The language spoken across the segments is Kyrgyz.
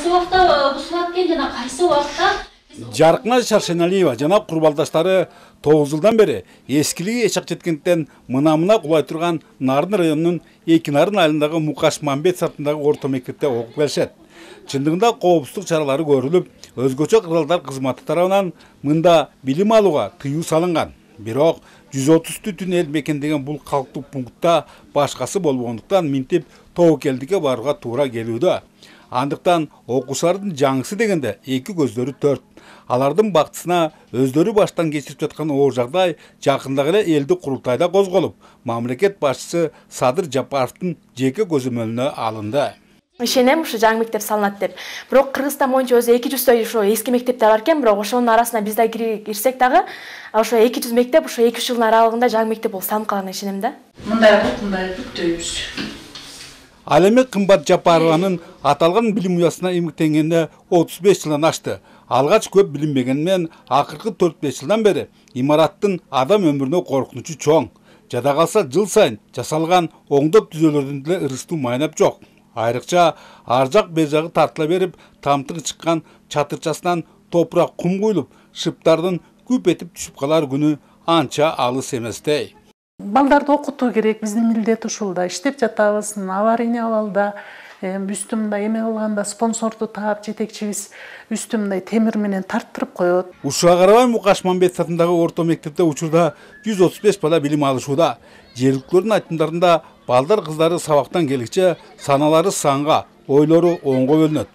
кайсы убакта бузулат экен жана кайсы убакта? Жаркына Шаршеналиева жана курбалдаштары 9 жылдан бери эскилиги эчак жеткенден мына кулай турган Нарын районунун Эки Нарын айылындагы Мукаш Мамбет атындагы орто мектепте окуп келишет. Чындыгында коопсуздук чаралары көрүлүп, өзгөчө кыралдар кызматы тарабынан мында билим алууга тыюу салынган. Бирок 130 түтүн эл мекендеген бул калктык пунктта башкасы болбогондуктан минтип тобокелдикке барууга туура келүүдө. Андыктан окуучулардын жаңысы дегенде эки көздөрү төрт. Алардын бактысына өздөрү баштан кечирип жаткан оор жагдай жакындагы эле элдик курултайда козголуп, мамлекет башчысы Садыр Жапаровдун жеке көзөмөлүнө алынды. Ишенем ушу жаңы мектеп салынат деп. Бирок Кыргызстан боюнча өзү 200 ошо эски мектептер бар экен, бирок ошонун арасына биз да кирсек дагы, ошо 200 мектеп ошо 2 жылдын аралыгында жаңы мектеп болуп салынып калганына ишенем да. Мындай бүктөйбүз. Ал эми Кымбат Жапарованын аталган билим уясына эмгектенгенине 35 жылдан ашты. Алгач көп билинбегенмен, акыркы 4-5 жылдан бери имараттын адам өмүрүнө коркунучу чоң. Жада калса жыл сайын жасалган оңдоп түзөлөрдүн деле ырыстуу майнап жок. Айрыкча ар жак бер жагы тартыла берип, тамтыгы чыккан чатырчасынан топурак кум куюлуп, шыптардын күп этип түшүп калар күнү анча алыс эместей. Балдарды окутуу керек, биздин милдет ушул да. Иштеп жатабыз, аварийный абалда, үстүмдө эме кылганда спонсорду таап жетекчибиз үстүмдө темир менен тарттырып коет. Ушуга карабай Мукаш Мамбет атындагы орто мектепте учурда 135 бала билим алышууда. Жергиликтүүлөрдүн айтымдарында балдар кыздары сабактан келгиче саналары санга, ойлору оңго бөлүнөт.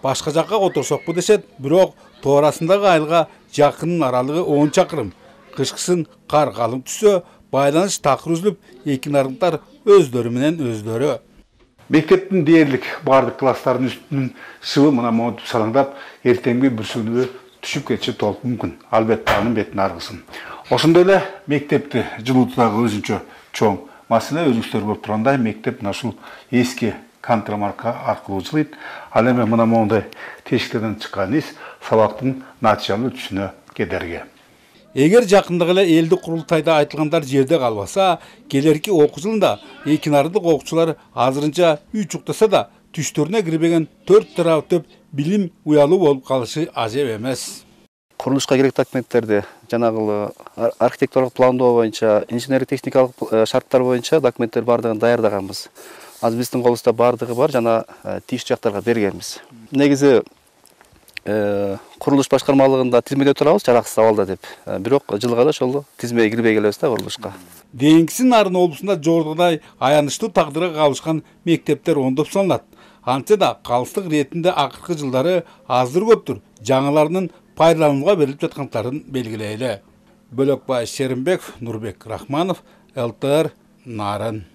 Башка жакка которсокпу дешет, бирок тоорасындагы айылга жакынын аралыгы 10 чакырым. Кышкысын кар калың түшсө, байланыш такыр үзүлүп, Эки Нарындар өздөрү менен өздөрү. Мектептин дээрлик бардык класстардын үстүнүн шыбы мына монтип салаңдап, эртеңги бүрсүгүнү түшүп кетиши толук мүмкүн. Албетте анын бетин аргысын. Ошондой эле мектепти жылуутуудагы өзүнчө чоң маселе өзүңүздөр көрүп тургандай, мектеп ушул эски контрамарка аркылуу жылыйт. Ал эми мына мондай тешиктерден чыккан из сабактын натыйжалуу өтүшүнө кедерги. Эгер жакындагы эле элдик курултайда айтылгандар жерде калбаса, келерки окуу жылында Эки Нарындык окуучулар азырынча үй чуктаса да түштөрүнө кирбеген 4 тарап төп билим уялуу болуп калышы ажеп эмес. Курулушка керек документтерди жанагы архитектуралык пландоо боюнча, инженерлик техникалык шарттар боюнча документтер бардыгын даярдаганбыз. Азыр биздин колубузда бардыгы бар жана тийиштүү жактарга бергенбиз. Негизи курулуш башкармалыгында тизмеде турабыз жараксыз абалда деп. Бирок жылга да ошол тизмеге кирбей келебиз да курулушка. Дейинкиси Нарын облусунда жогорудагыдай аянычтуу тагдырга кабылышкан мектептер оңдоп салынат. Антсе да калыстык иретинде акыркы жылдары аздыр көптүр жаңыларынын пайдаланууга берилип жаткандарын белгилейли. Бөлөкбай Шеримбеков, Нурбек Рахманов, ЛТР, Нарын.